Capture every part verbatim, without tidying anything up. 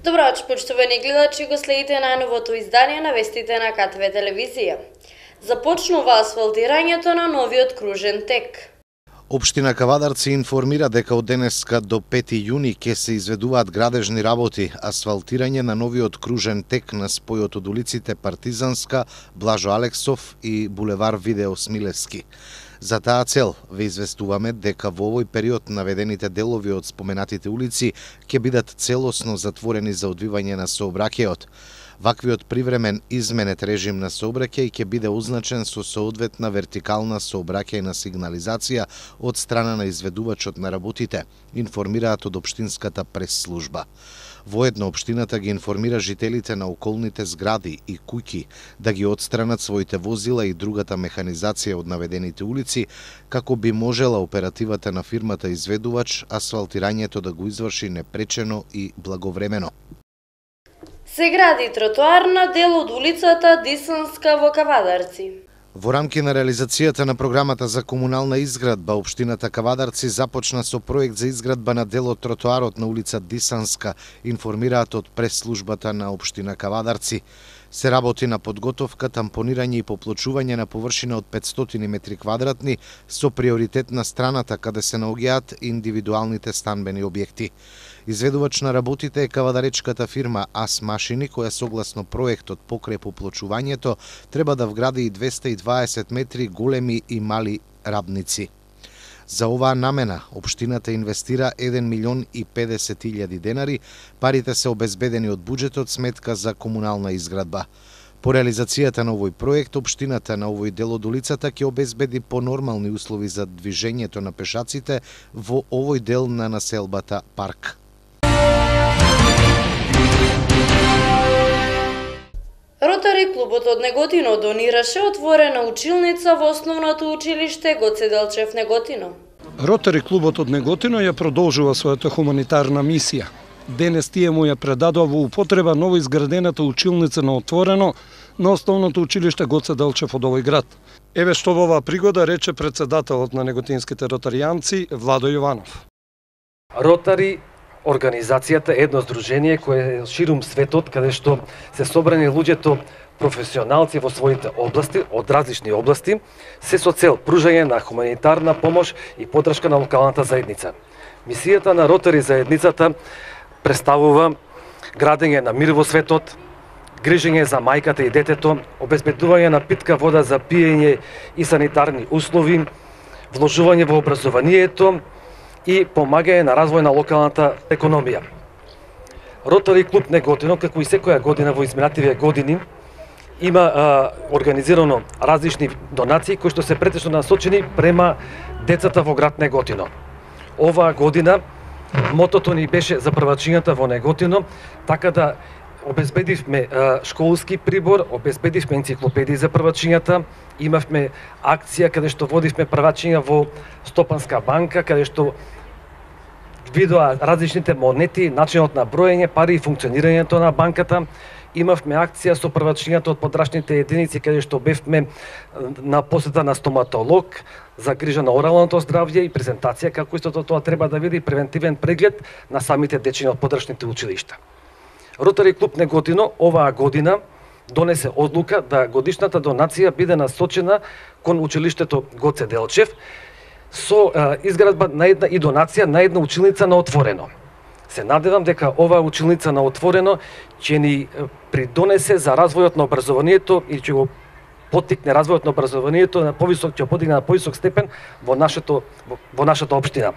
Добро вечер, почитувани гледачи, го следите најновото издание на вестите на КТВ телевизија. Започнува асфалтирањето на новиот кружен тек. Општина Кавадарци информира дека од денеска до пети јуни ќе се изведуваат градежни работи, асфалтирање на новиот кружен тек на спојот од улиците Партизанска, Блажо Алексов и булевар Видео Смилевски. За таа цел ве известуваме дека во овој период наведените делови од споменатите улици ќе бидат целосно затворени за одвивање на сообраќајот. Ваквиот привремен изменет режим на сообраќај ќе биде означен со соодветна вертикална сообраќајна сигнализација од страна на изведувачот на работите, информираат од општинската прес-служба. Воедно општината ги информира жителите на околните згради и куќи да ги отстранат своите возила и другата механизација од наведените улици, како би можела оперативата на фирмата изведувач асфалтирањето да го изврши непречено и благовремено. Се гради тротоарна дел од улицата Дисанска во Кавадарци. Во рамки на реализацијата на програмата за комунална изградба, општината Кавадарци започна со проект за изградба на дел од тротоарот на улица Дисанска, информираат од прес-службата на општина Кавадарци. Се работи на подготовка, тампонирање и поплочување на површина од петстотини метри квадратни со приоритет на страната каде се наоѓаат индивидуалните станбени објекти. Изведувач на работите е кавадаречката фирма АС Машини, која согласно проектот покрај поплочувањето треба да вгради и двесте и дваесет метри големи и мали рабници. За оваа намена општината инвестира еден милион и педесет илјади денари, парите се обезбедени од буџетот сметка за комунална изградба. По реализацијата на овој проект, општината на овој дел од улицата ќе обезбеди понормални услови за движењето на пешаците во овој дел на населбата Парк. Ротари клубот од Неготино донираше отворена училница во основното училиште Гоце Делчев Неготино. Ротари клубот од Неготино ја продолжува својата хуманитарна мисија. Денес тие му ја предадоа во употреба новоизградената училница на отворено на основното училиште Гоце Делчев од овој град. Еве што во оваа пригода рече председателот на неготинските ротаријанци Владо Јованов. Ротари Организацијата е едно здружение кое е ширум светот, каде што се собрани луѓето професионалци во своите области, од различни области, се со цел пружање на хуманитарна помош и поддршка на локалната заедница. Мисијата на Ротари заедницата представува градење на мир во светот, грижење за мајката и детето, обезбедување на питка вода за пиење и санитарни услови, вложување во образованието и помагање на развој на локалната економија. Ротари клуб Неготино, како и секоја година во изминативите години, има а, организирано различни донации кои што се претежно насочени према децата во град Неготино. Оваа година мотото ни беше за првачињата во Неготино, така да обезбедивме а, школски прибор, обезбедивме енциклопедии за првачињата, имавме акција каде што водивме првачиња во Стопанска банка, каде што видоа различните монети, начинот на броење пари и функционирањето на банката. Имавме акција со првачињата од подрачните единици, каде што бевме на посета на стоматолог за грижа на оралното здравје и презентација како истото тоа треба да види превентивен преглед на самите дечиња од подрачните училишта. Ротари клуб Неготино оваа година донесе одлука да годишната донација биде насочена кон училиштето Гоце Делчев со а, изградба на една и донација на една училница на отворено. Се надевам дека оваа училница на отворено ќе ни придонесе за развојот на образованието и ќе го поттикне развојот на образованието на повисок, ќе подигне на повисок степен во нашето во, во нашата општина.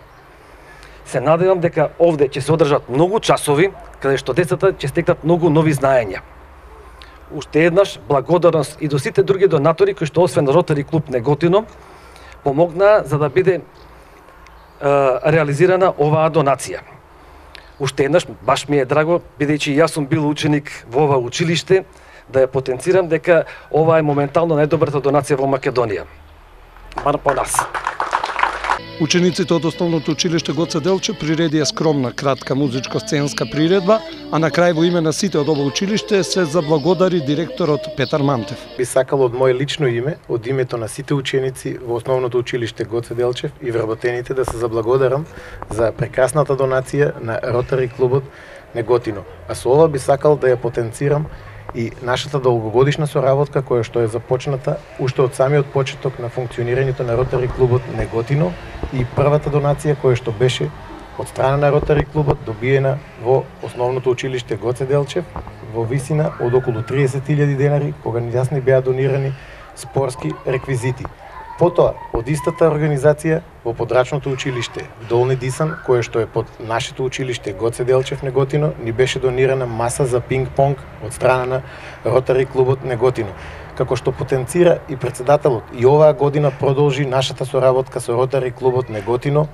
Се надевам дека овде ќе се одржат многу часови каде што децата ќе стекнат многу нови знаења. Уште еднаш благодарност и до сите други донатори кои што освен Ротари клуб Неготино помогнаа за да биде е, реализирана оваа донација. Уште еднаш баш ми е драго, бидејќи јас сум бил ученик во ова училиште, да ја потенцирам дека ова е моментално најдобрата донација во Македонија. Бар по нас. Учениците од Основното училиште Гоце Делчев приредија скромна, кратка музичко-сценска приредба, а на крај во име на сите од ова училиште се заблагодари директорот Петар Мантев. Би сакал од моје лично име, од името на сите ученици во Основното училиште Гоце Делчев и вработените да се заблагодарам за прекрасната донација на Ротари клубот Неготино. А со ова би сакал да ја потенцирам и нашата долгогодишна соработка која што е започната уште од самиот почеток на функционирањето на Ротари клубот Неготино и првата донација која што беше од страна на Ротари клубот добиена во Основното училиште Гоце Делчев во висина од околу триесет илјади денари, кога јас ни беа донирани спортски реквизити. Потоа, од истата организација во подрачното училиште Долни Дисан, кое што е под нашето училиште Гоце Делчев Неготино, ни беше донирана маса за пинг-понг од страна на Ротари клубот Неготино. Како што потенцира и председателот, и оваа година продолжи нашата соработка со Ротари клубот Неготино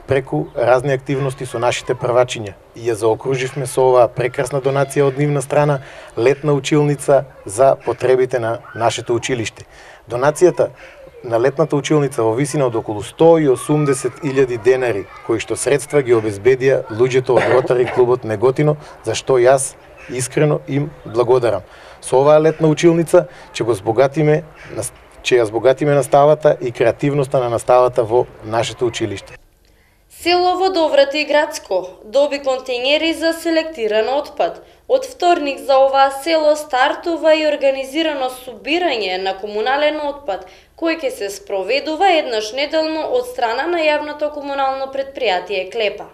преку разни активности со нашите првачиња. И ја заокруживме со оваа прекрасна донација од нивна страна летна училница за потребите на нашето училиште. Донацијата на летната училница во висина од околу сто и осумдесет илјади денари, кои што средства ги обезбедија луѓето од Ротари клубот Неготино, за што јас искрено им благодарам. Со оваа летна училница ќе го збогатиме, ќе ја збогатиме наставата и креативноста на наставата во нашето училиште. Село Водоврати и Градско доби контејнери за селектиран отпад. Од вторник за оваа село стартува и организирано собирање на комунален отпад, кој ќе се спроведува еднаш неделно од страна на јавното комунално предпријатие Клепа.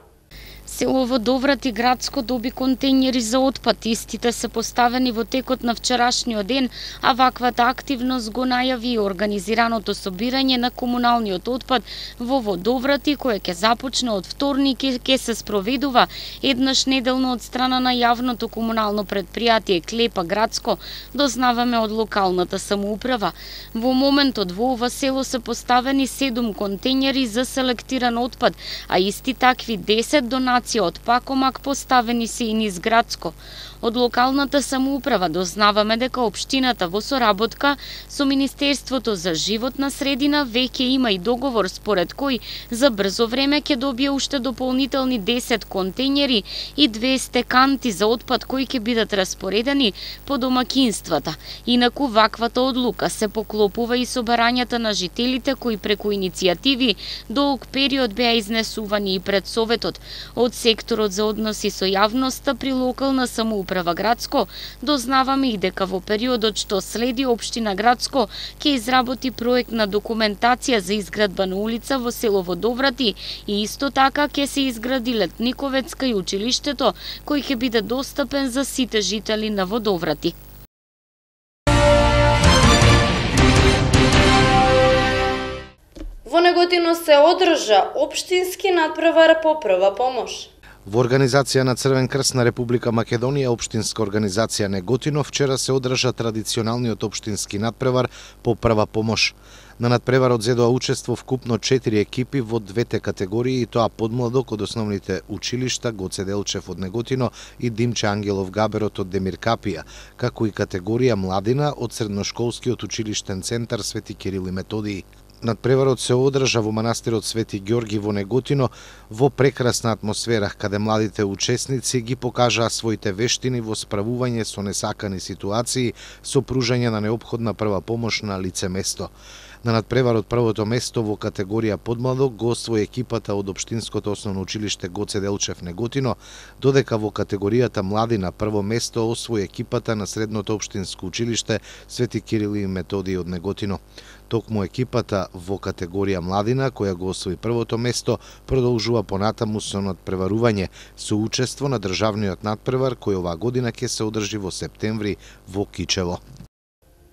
Село Водоврат и Градско доби контејнери за отпад. Истите се поставени во текот на вчерашниот ден, а ваквата активност го најави организираното собирање на комуналниот отпад во Водоврати, кое ќе започне од вторник и ќе се спроведува еднаш неделно од страна на јавното комунално предпријатие Клепа Градско, дознаваме од локалната самоуправа. Во моментот во ова село се поставени седум контејнери за селектиран отпад, а исти такви десет донации од Пакомак поставени се и низ Градско. Од локалната самоуправа дознаваме дека општината во соработка со Министерството за животна средина веќе има и договор според кој за брзо време ќе добие уште дополнителни десет контејнери и двесте канти за отпад кои ќе бидат распоредени по домакинствата. Инаку ваквата одлука се поклопува и со барањата на жителите кои преку иницијативи долг период беа изнесувани и пред Советот. Од секторот за односи со јавноста при локална самоуправа Градско дознаваме и дека во периодот што следи општина Градско ќе изработи проектна документација за изградба на улица во село Водоврати и исто така ќе се изгради летниковецка и училиштето кој ќе биде достапен за сите жители на Водоврати. Во Неготино се одржа општински надпревар по прва помош. Во организација на Црвен крст на Република Македонија, општинска организација Неготино, вчера се одржа традиционалниот општински надпревар по прва помош. На надпреварот зедоа учество вкупно четири екипи во двете категории, и тоа подмладок од основните училишта Гоце Делчев од Неготино и Димче Ангелов Габерот од Демир Капија, како и категорија младина од средношколскиот училиштен центар Свети Кирил и Методиј. Надпреварот се одржа во манастирот Свети Ѓорги во Неготино во прекрасна атмосфера, каде младите учесници ги покажаа своите вештини во справување со несакани ситуации со пружање на неопходна прва помош на лице место. На надпреварот првото место во категорија подмладок го освои екипата од општинското основно училиште Гоце Делчев Неготино, додека во категоријата младина прво место освои екипата на средното општинско училиште Свети Кирил и Методиј од Неготино. Токму екипата во категорија младина, која го освои првото место, продолжува понатаму со надпреварување со учество на државниот надпревар кој оваа година ќе се одржи во септември во Кичево.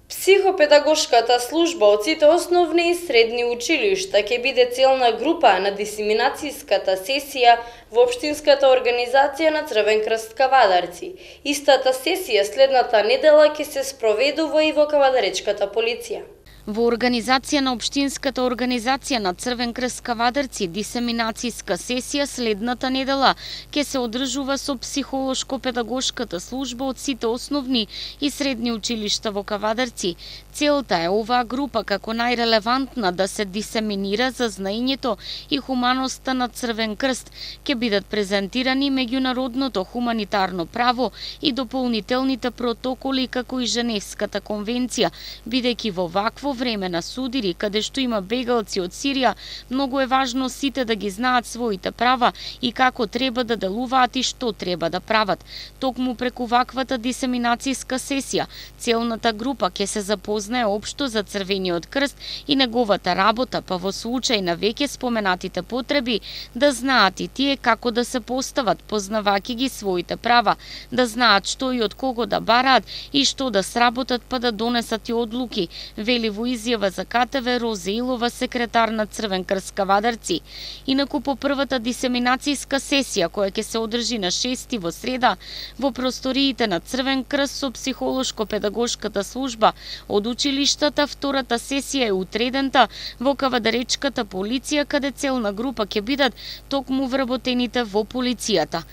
Психопедагошката служба од сите основни и средни училишта ќе биде целна група на дисеминацијската сесија во општинската организација на Црвен крст Кавадарци. Истата сесија следната недела ќе се спроведува и во Кавадаречката полиција. Во организација на Општинската организација на Црвен крст Кавадарци дисеминацијска сесија следната недела ќе се одржува со психолошко-педагошката служба од сите основни и средни училишта во Кавадарци. Целта е оваа група како најрелевантна да се дисеминира за знаењето и хуманоста на Црвен крст. Ќе бидат презентирани меѓународното хуманитарно право и дополнителните протоколи како и Женевската конвенција, бидејќи во вакво време на судири каде што има бегалци од Сирија, многу е важно сите да ги знаат своите права и како треба да делуваат и што треба да прават. Токму преку ваквата дисеминацијска сесија, целната група ќе се запознае општо за Црвениот крст и неговата работа, па во случај на веќе споменатите потреби, да знаат и тие како да се постават, познавајќи ги своите права, да знаат што и од кого да бараат и што да сработат па да донесат и одлуки, вели во изјава за КТВ Розе Илова, секретар на Црвен крст Кавадарци. Инаку по првата дисеминацијска сесија, која ќе се одржи на шести во среда, во просториите на Црвен крст со психолошко-педагошката служба од училиштата, втората сесија е утредента во Кавадаречката полиција, каде целна група ќе бидат токму вработените во полицијата.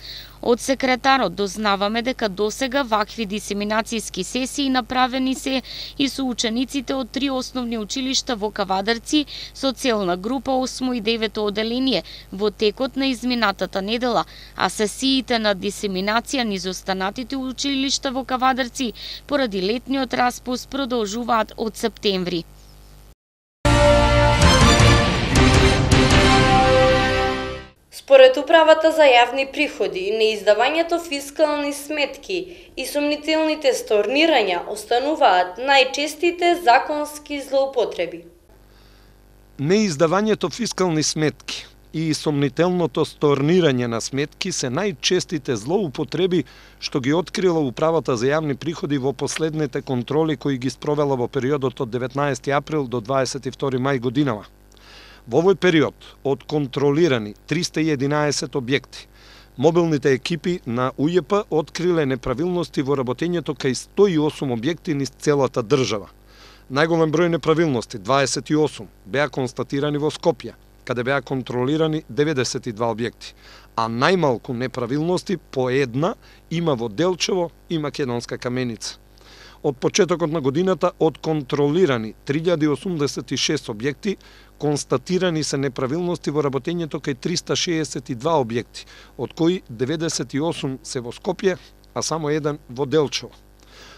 Од секретарот дознаваме дека досега вакви дисеминацијски сесии направени се и со учениците од три основни училишта во Кавадарци со целна група осмо и девето оделение во текот на изминатата недела, а сесиите на дисеминација низ останатите училишта во Кавадарци поради летниот распуст продолжуваат од септември. Според Управата за јавни приходи, неиздавањето фискални сметки и сомнителните сторнирања остануваат најчестите законски злоупотреби. Неиздавањето фискални сметки и сомнителното сторнирање на сметки се најчестите злоупотреби што ги открила Управата за јавни приходи во последните контроли кои ги спровела во периодот од деветнаесети април до дваесет и втори мај годинава. Во овој период од контролирани триста и единаесет објекти, мобилните екипи на УЈП откриле неправилности во работењето кај сто и осум објекти низ целата држава. Најголем број неправилности, дваесет и осум, беа констатирани во Скопје, каде беа контролирани деветдесет и два објекти, а најмалку неправилности по една има во Делчево и Македонска Каменица. Од почетокот на годината од контролирани три илјади осумдесет и шест објекти, констатирани се неправилности во работењето кај триста шеесет и два објекти, од кои деветдесет и осум се во Скопје, а само еден во Делчево.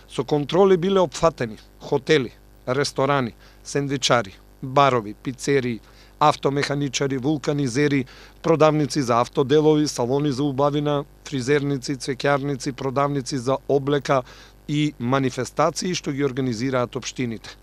Со контроли биле опфатени хотели, ресторани, сендвичари, барови, пицерии, автомеханичари, вулканизери, продавници за автоделови, салони за убавина, фризерници, цвеќарници, продавници за облека и манифестации што ги организираат општините.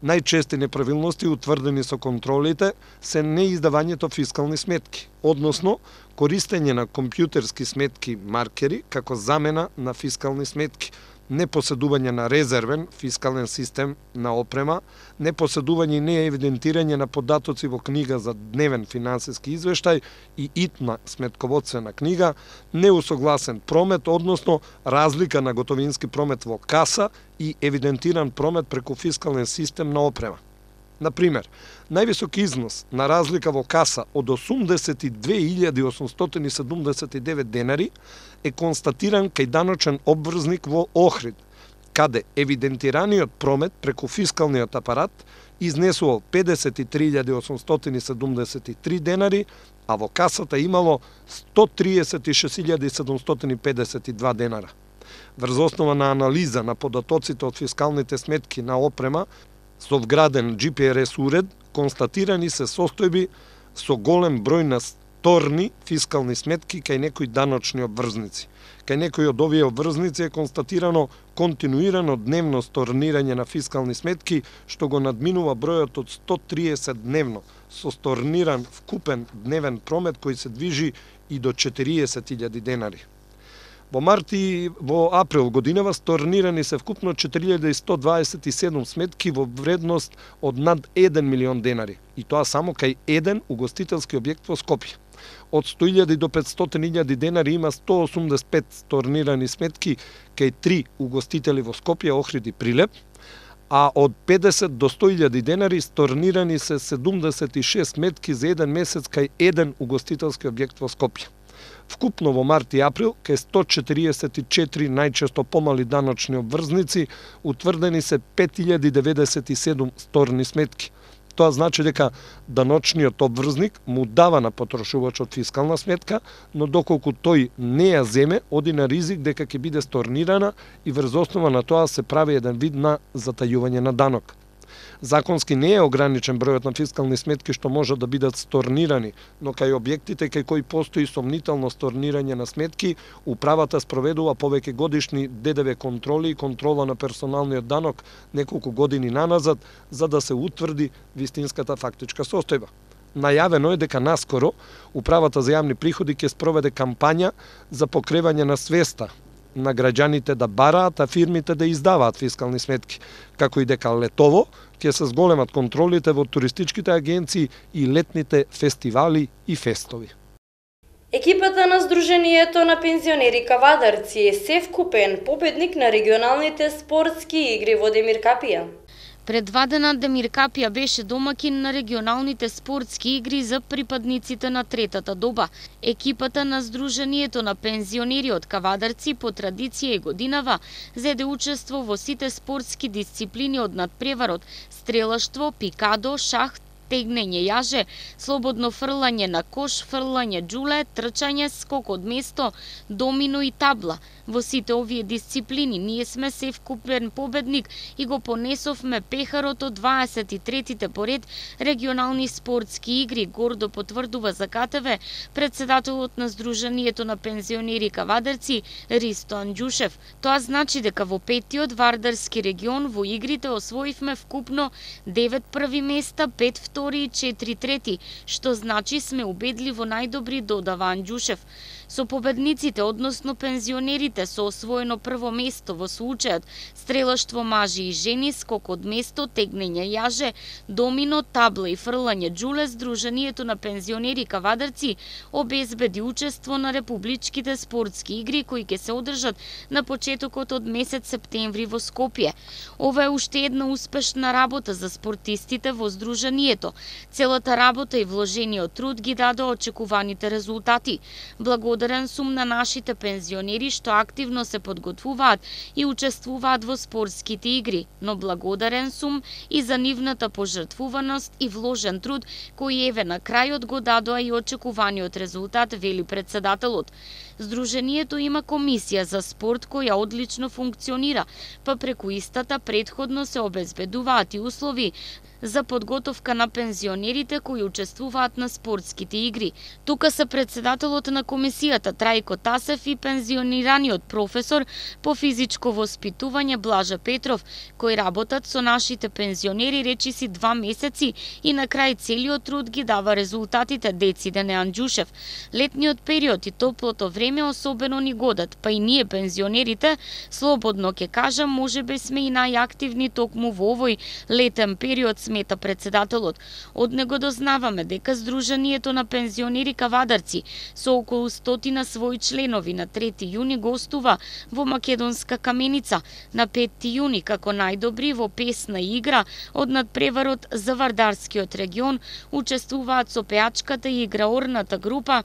Најчести неправилности утврдени со контролите се неиздавањето фискални сметки, односно користење на компјутерски сметки маркери како замена на фискални сметки, непоседување на резервен фискален систем на опрема, непоседување и неевидентирање на податоци во книга за дневен финансиски извештај и итна сметководствена книга, неусогласен промет, односно разлика на готовински промет во каса и евидентиран промет преку фискален систем на опрема. Например, највисок износ на разлика во каса од осумдесет и две илјади осумстотини и седумдесет и девет денари е констатиран кај даночен обврзник во Охрид, каде евидентираниот промет преку фискалниот апарат изнесувал педесет и три илјади осумстотини и седумдесет и три денари, а во касата имало сто триесет и шест илјади седумстотини и педесет и два денара. Врз основа на анализа на податоците од фискалните сметки на опрема, со вграден Джи Пи Ар Ес уред, констатирани се состојби со голем број на сторни фискални сметки кај некои даночни обврзници. Кај некои од овие обврзници е констатирано континуирано дневно сторнирање на фискални сметки, што го надминува бројот од сто триесет дневно, со сторниран вкупен дневен промет кој се движи и до четириесет илјади денари. Во март и во април годинава сторнирани се вкупно четири илјади сто дваесет и седум сметки во вредност од над еден милион денари, и тоа само кај еден угостителски објект во Скопје. Од сто илјади до петстотини илјади денари има сто осумдесет и пет сторнирани сметки кај три угостители во Скопје, Охрид и Прилеп, а од педесет до сто илјади денари сторнирани се седумдесет и шест сметки за еден месец кај еден угостителски објект во Скопје. Вкупно во март и април, кај сто четириесет и четири најчесто помали даночни обврзници, утврдени се пет илјади деведесет и седум сторни сметки. Тоа значи дека даночниот обврзник му дава на потрошувачот фискална сметка, но доколку тој не ја земе, оди на ризик дека ќе биде сторнирана и врз основа на тоа се прави еден вид на затајување на данок. Законски не е ограничен бројот на фискални сметки што може да бидат сторнирани, но кај објектите кај кои постои сомнително сторнирање на сметки, управата спроведува повеќе годишни Д Д В контроли и контрола на персоналниот данок неколку години наназад, за да се утврди вистинската фактичка состојба. Најавено е дека наскоро Управата за јавни приходи ќе спроведе кампања за покревање на свеста на граѓаните да бараат, а фирмите да издаваат фискални сметки, како и дека летово ќе се зголемат контролите во туристичките агенции и летните фестивали и фестови. Екипата на Сдруженијето на пензионери Кавадарци е севкупен победник на регионалните спортски игри во Демир Капија. Пред два дена Демир Капија беше домакин на регионалните спортски игри за припадниците на третата доба. Екипата на Сдруженијето на пензионери од Кавадарци по традиција и годинава зеде учество во сите спортски дисциплини од надпреварот, стрелаштво, пикадо, шах, тегнење јаже, слободно фрлање на кош, фрлање џуле, трчање, скок од место, домино и табла. Во сите овие дисциплини ние сме севкупен победник и го понесовме пехарот од дваесет и третите поред регионални спортски игри, гордо потврдува за К Т В председателот на Сдруженијето на пензионери Кавадарци Ристо Анџушев. Тоа значи дека во петиот Вардарски регион во игрите освоивме вкупно девет први места, пет втори и четири трети, што значи сме убедливо најдобри, додава Анџушев. Со победниците, односно пензионерите, со освоено прво место во случајот стрелаштво мажи и жени, скок од место, тегнење јаже, домино, табла и фрлање џуле, Сдруженијето на пензионери Кавадарци обезбеди учество на републичките спортски игри кои ќе се одржат на почетокот од месец септември во Скопје. Ова е уште една успешна работа за спортистите во Сдруженијето. Целата работа и вложениот труд ги даде очекуваните резултати. Благодарен сум на нашите пензионери што активно се подготвуваат и учествуваат во спортските игри, но благодарен сум и за нивната пожртвуваност и вложен труд кој еве на крајот го дадоа и очекуваниот резултат, вели председателот. Сдруженијето има комисија за спорт која одлично функционира, па преку истата претходно се обезбедуваат и услови за подготовка на пензионерите кои учествуваат на спортските игри. Тука се председателот на комисијата Трајко Тасев и пензионираниот професор по физичко воспитување Блажа Петров, кои работат со нашите пензионери речиси два месеци и на крај целиот труд ги дава резултатите, дециде не Анџушев. Летниот период и топлото време особено ни годат, па и ние пензионерите, слободно ќе кажам, можеби сме и најактивни токму во овој летен период, смета председателот. Од него дознаваме дека Сдруженијето на пензионери Кавадарци со околу стотина своји членови на трети јуни гостува во Македонска Каменица, на пети јуни како најдобри во песна игра од надпреварот за Вардарскиот регион учествуваат со пеачката и играорната група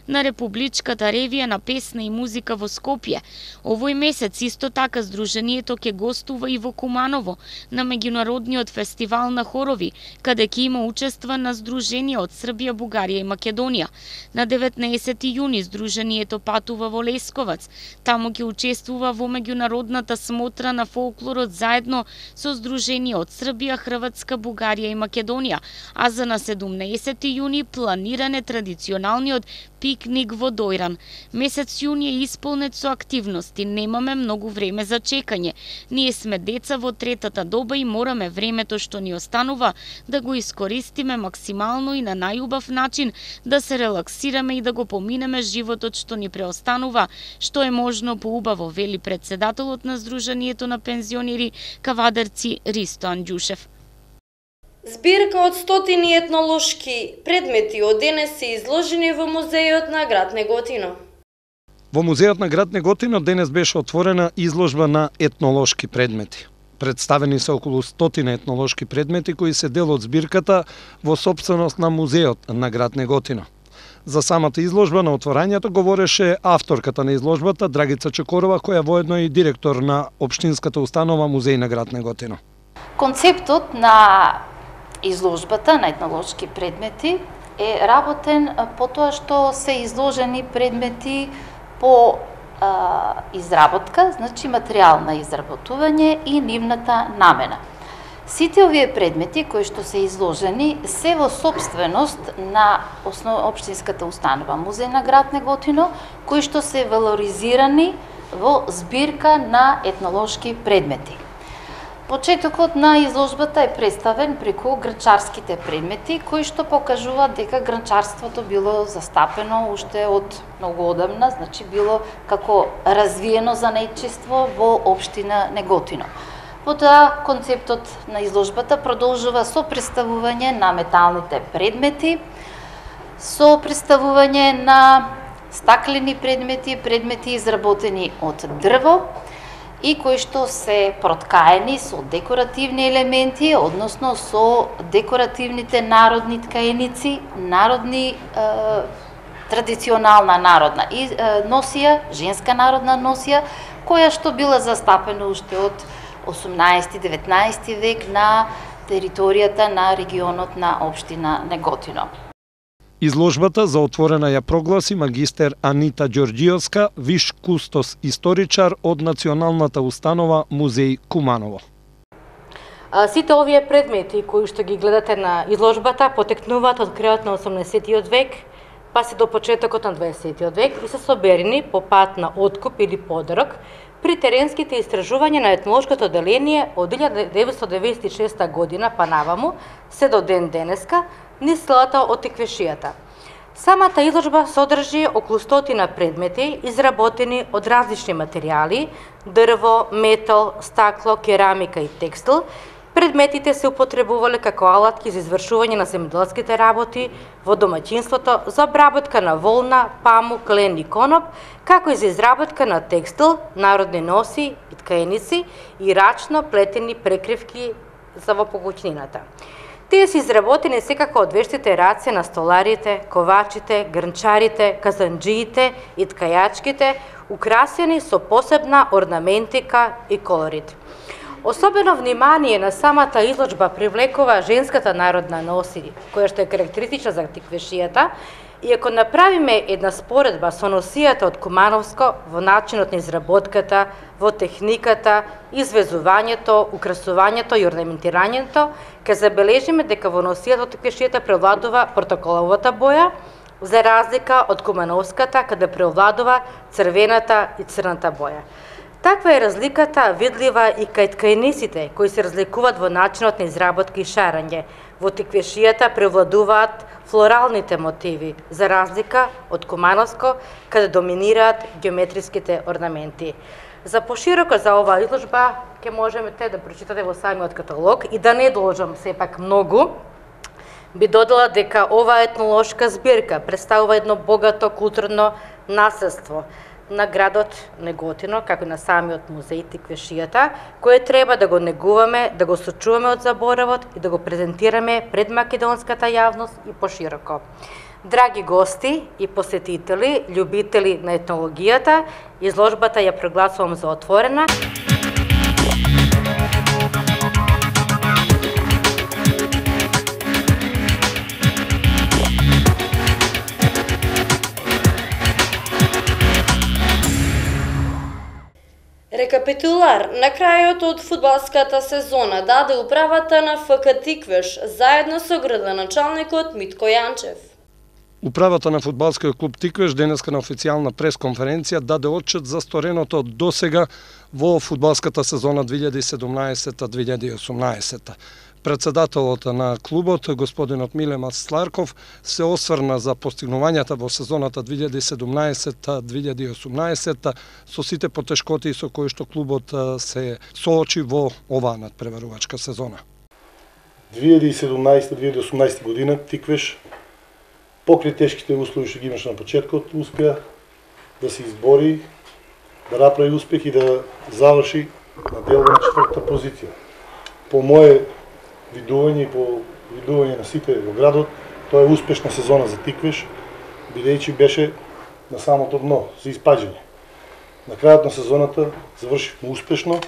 на Републичката ревија на песна и музика во Скопје. Овој месец исто така Сдруженијето ќе гостува и во Куманово на меѓународниот фестивал на хорови, каде ќе има учества на здруженија од Србија, Бугарија и Македонија. На деветнаесети јуни Сдруженијето патува во Лесковац. Таму ќе учествува во меѓународната смотра на фолклорот заедно со здруженија од Србија, Хрватска, Бугарија и Македонија. А за на седумнаесети јуни планиран е традиционалниот пикник во Дојран. Месец јуни е исполнет со активности, немаме многу време за чекање. Ние сме деца во третата доба и мораме времето што ни останува да го искористиме максимално и на најубав начин, да се релаксираме и да го поминеме животот што ни преостанува, што е можно поубаво, вели председателот на Сдруженијето на пензионери Кавадарци Ристо Анџушев. Збирка од стотини етнолошки предмети од денес се изложени во музејот на град Неготино. Во музејот на град Неготино денес беше отворена изложба на етнолошки предмети. Представени се околу стотина етнолошки предмети кои се дел од збирката во сопственост на музеот на град Неготино. За самата изложба на отворањето говореше авторката на изложбата Драгица Чекорова, која воедно е и директор на општинската установа Музеј на град Неготино. Концептот на изложбата на етнолошки предмети е работен по тоа што се изложени предмети по а, изработка, значи материјал на изработување и нивната намена. Сите овие предмети кои што се изложени се во сопственост на основ... општинската установа Музеј на град Неготино, кои што се валоризирани во збирка на етнолошки предмети. Почетокот на изложбата е представен преку гранчарските предмети, кои што покажуваат дека гранчарството било застапено уште од многу одамна, значи било како развиено занаетчество во општина Неготино. Потоа концептот на изложбата продолжува со представување на металните предмети, со представување на стаклени предмети, предмети изработени од дрво и кои што се проткаени со декоративни елементи, односно со декоративните народни ткаеници, народни е, традиционална народна и, е, носија, женска народна носија, која што била застапена уште од осумнаесети-деветнаесети век на територијата на регионот на општина Неготино. Изложбата за отворена ја прогласи магистер Анита Ѓорѓиевска, виш кустос историчар од Националната установа Музеј Куманово. Сите овие предмети кои што ги гледате на изложбата потекнуваат од крајот на осумнаесеттиот век, па се до почетокот на дваесеттиот век и се соберени по пат на откуп или подарок при теренските истражувања на етнолошкото одделение од илјада деветстотини деветдесет и шеста година па наваму, се до ден денеска, низ селата од Теквешијата. Самата изложба содржи околу стотина предмети изработени од различни материјали, дрво, метал, стакло, керамика и текстил. Предметите се употребувале како алатки за извршување на земјоделските работи во домаќинството, за обработка на волна, памук, лен и коноп, како и за изработка на текстил, народни носи и ткаеници и рачно плетени прекривки за во покуќнината. Тие се изработени секако од вештите раце на столарите, ковачите, грнчарите, казанџиите и ткајачките, украсени со посебна орнаментика и колорит. Особено внимание на самата изложба привлекува женската народна носи, која што е карактеристична за Теквешијата, и ако направиме една споредба со носијата од Кумановско во начинот на изработката, во техниката, извезувањето, украсувањето и орнаментирањето, ќе забележиме дека во носијата од Теквешијата превладува протоколовата боја, за разлика од Кумановската, каде превладува црвената и црната боја. Таква е разликата видлива и кај ткаениците, кои се разликуваат во начинот на изработка и шарање. Во Теквешијата превладуваат флоралните мотиви, за разлика од Кумановско, каде доминираат геометриските орнаменти. За пошироко за оваа изложба ќе можете да прочитате во самиот каталог и да не должам сепак многу, би додала дека оваа етнолошка збирка представува едно богато културно наследство на градот Неготино, како и на самиот музеј Теквешијата, кое треба да го негуваме, да го сочуваме од заборавот и да го презентираме пред македонската јавност и пошироко. Драги гости и посетители, љубители на етнологијата, изложбата ја прогласувам за отворена. Рекапитулар на крајот од фудбалската сезона даде управата на ФК Тиквеш заедно со градоначалникот Митко Јанчев. Управата на фудбалскиот клуб Тиквеш денеска на официјална пресконференција даде отчет за стореното досега во фудбалската сезона две илјади и седумнаесета две илјади и осумнаесета. Председателот на клубот, господинот Миле Масларков, се осврна за постигнувањата во сезоната две илјади и седумнаесета две илјади и осумнаесета со сите потешкоти со кои што клубот се соочи во оваа надпреварувачка сезона. две илјади и седумнаесета две илјади и осумнаесета година Тиквеш, покрај тешките услови што ги имаше на почеткот, успеа да се избори, да направи успех и да заврши на делба на четвртата позиција. По мое видување и по видување на сите во градот, тоа е успешна сезона за Тиквеш, бидејќи беше на самото дно за испаѓање. На крајот на сезоната завршивме успешно.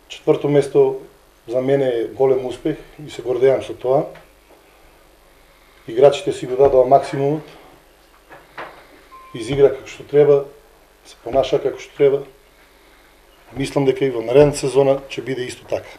Четврто место за мене е голем успех и се гордеам со тоа. Играчите си го дадоа максимумот, изигра како што треба, се понаша како што треба. Мислам дека и во наредната сезона ќе биде исто така.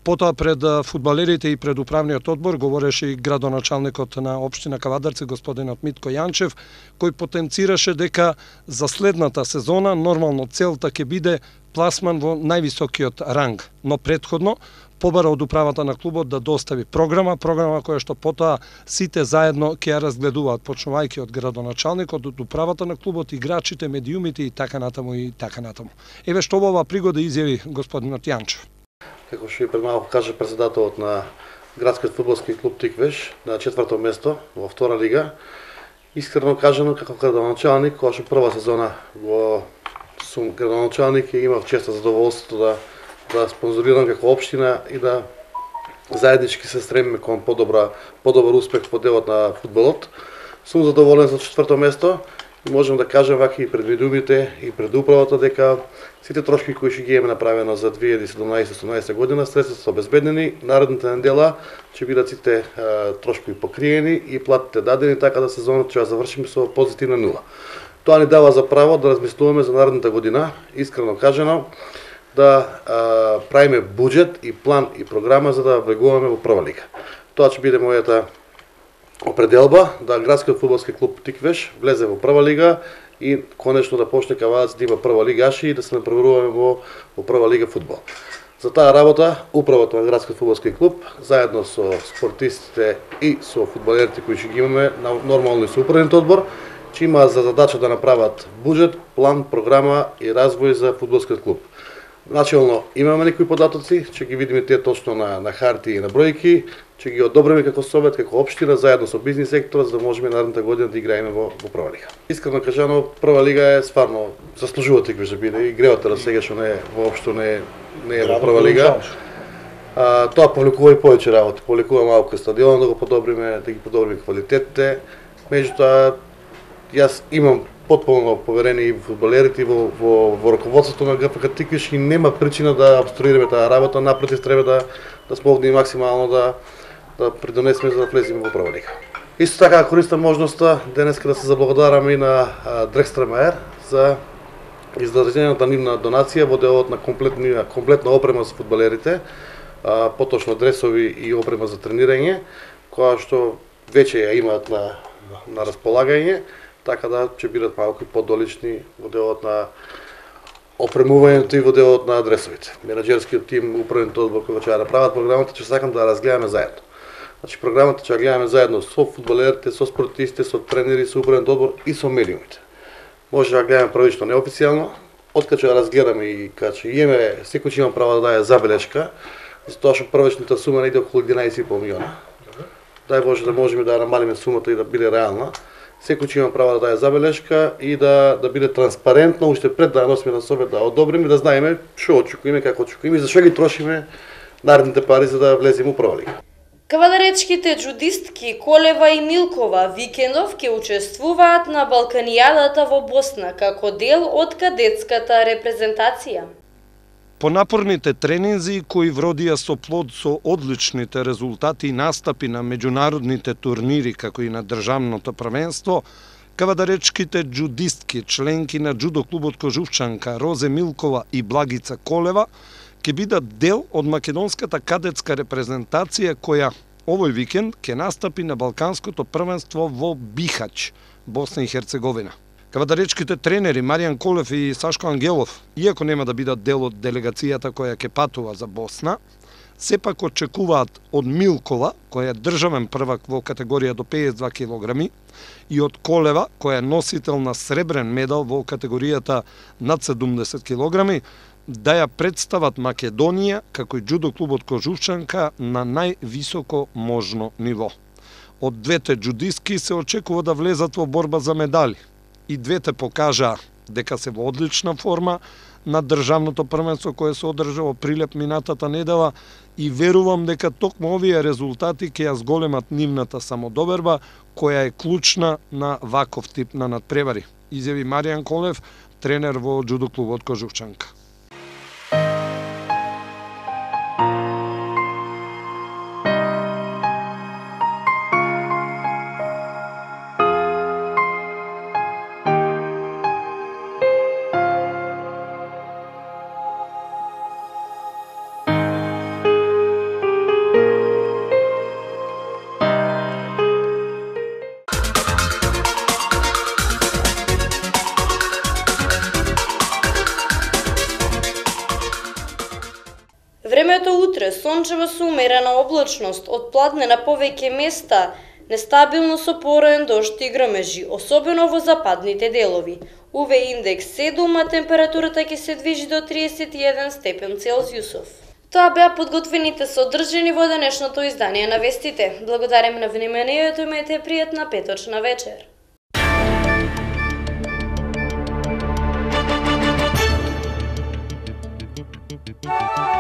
Потоа пред фудбалерите и пред управниот одбор говореше и градоначалникот на општина Кавадарци, господинот Митко Јанчев, кој потенцираше дека за следната сезона нормално целта ќе биде пласман во највисокиот ранг, но претходно побара од управата на клубот да достави програма, програма која што потоа сите заедно ќе ја разгледуваат, почнувајќи од градоначалникот, од управата на клубот, играчите, медиумите и така натаму и така натаму. Еве што во оваа пригода изјави господинот Јанчев. Како што и пред малку каже председателот на градскиот фудбалски клуб Тиквеш на четврто место во втора лига, искрено кажано како градоначалник, кога што прва сезона го сум градоначалник и имав често задоволството да да спонзорирам како општина и да заеднички се стремиме кон подобра подобар успех во делот на фудбалот. Сум задоволен за четврто место и можам да кажам вака и пред медиумите и пред управата дека сите трошки кои ќе ги имаме направено за две илјади и седумнаесета осумнаесета година, средствата се обезбеднени, наредната недела ќе бидат сите а, трошки покриени и платите дадени, така да сезонот ќе ја завршиме со позитивна нула. Тоа ни дава за право да размислуваме за наредната година, искрено кажано, да а, правиме буџет и план и програма за да влегуваме во прва лига. Тоа ќе биде мојата определба да градскиот фудбалски клуб Тиквеш влезе во прва лига и конечно да почне Кавадац да има прва лигаши и да се напреваруваме во, во прва лига фудбал. За таа работа управата на градскиот фудбалски клуб заедно со спортистите и со фудбалерите кои ќе ги имаме на нормално и со управниот одбор ќе има за задача да направат буџет, план, програма и развој за фудбалскиот клуб. Начелно имаме некои податоци, ќе ги видиме тие точно на на харти и на бројки, ќе ги одобриме како совет, како општина заедно со бизнис сектора за да можеме наредната година да играеме во во прва лига. Искрено кажано, прва лига е стварно заслужува Тиквеш да биде и гревата да сега што не е воопшто не е не е во прва лига. А, тоа повлекува и повеќе работи, повлекува малку стадион да го подобриме, да ги подобриме квалитетите. Меѓутоа јас имам потполно поверение и во фудбалерите и во, во, во раководството на ГФК Тиквеш и нема причина да обструираме таа работа, напротив треба да да смогнеме максимално да да придонесеме за да влеземе во прва лига. Исто така користам можноста денеска да се заблагодарам и на Дрекстрамаер за издржањата нивна донација во делот на комплетна комплетна опрема за фудбалерите, а, поточно дресови и опрема за тренирање, која што веќе ја имаат на на располагање, така да ќе бидат малку подолични во делот на опремувањето и во делот на адресовите. Менаџерскиот тим, управниот одбор кој ќе ја направат програмата, ќе сакам да разгледаме заедно. Значи програмата ќе ја гледаме заедно со фудбалерите, со спортистите, со тренери, со управниот одбор и со медиумите. Може да ја гледаме првично неофицијално, откако ќе ја разгледаме и кога ќе имаме, секој ќе има право да даде забелешка, затоа што првичната сума не иде околу единаесет и пол милиона. Дај Боже да можеме да намалиме сумата и да биде реална. Секој ќе има право да даде забелешка и да да биде транспарентно уште пред да носиме на себе да одобриме и да знаеме што очекуваме, како очекуваме и за што ги трошиме наредните пари за да влеземе во прва лига. Кавадаречките джудистки Колева и Милкова викендов ќе учествуваат на Балканијадата во Босна како дел од кадетската репрезентација. По напорните тренинзи кои вродија со плод со одличните резултати и настапи на меѓународните турнири како и на државното првенство, кавадаречките джудистки, членки на џудо клубот Кожувчанка, Розе Милкова и Благица Колева, ќе бидат дел од македонската кадетска репрезентација која овој викенд ќе настапи на Балканското првенство во Бихач, Босна и Херцеговина. Кавадаречките тренери Маријан Колев и Сашко Ангелов, иако нема да бидат дел од делегацијата која ќе патува за Босна, сепак очекуваат од Милкова, која е државен првак во категорија до педесет и два килограми, и од Колева, која е носител на сребрен медал во категоријата над седумдесет килограми, да ја представат Македонија како и џудо клубот Кожувчанка на највисоко можно ниво. Од двете џудистки се очекува да влезат во борба за медали. И двете покажаа дека се во одлична форма на државното првенство кое се одржа во Прилеп минатата недела и верувам дека токму овие резултати ќе ја зголемат нивната самодоберба која е клучна на ваков тип на надпревари, изјави Маријан Колев, тренер во џудо клубот Кожухчанка. Времето утре сончево со умерена облачност, од пладне на повеќе места, нестабилно со пороен дожд и грмежи, особено во западните делови. У В индекс седум, а температурата ќе се движи до триесет и еден степен Целзиусов. Тоа беа подготвените содржини во денешното издание на вестите. Благодарим на вниманието, имајте пријатна петочна вечер. Thank you.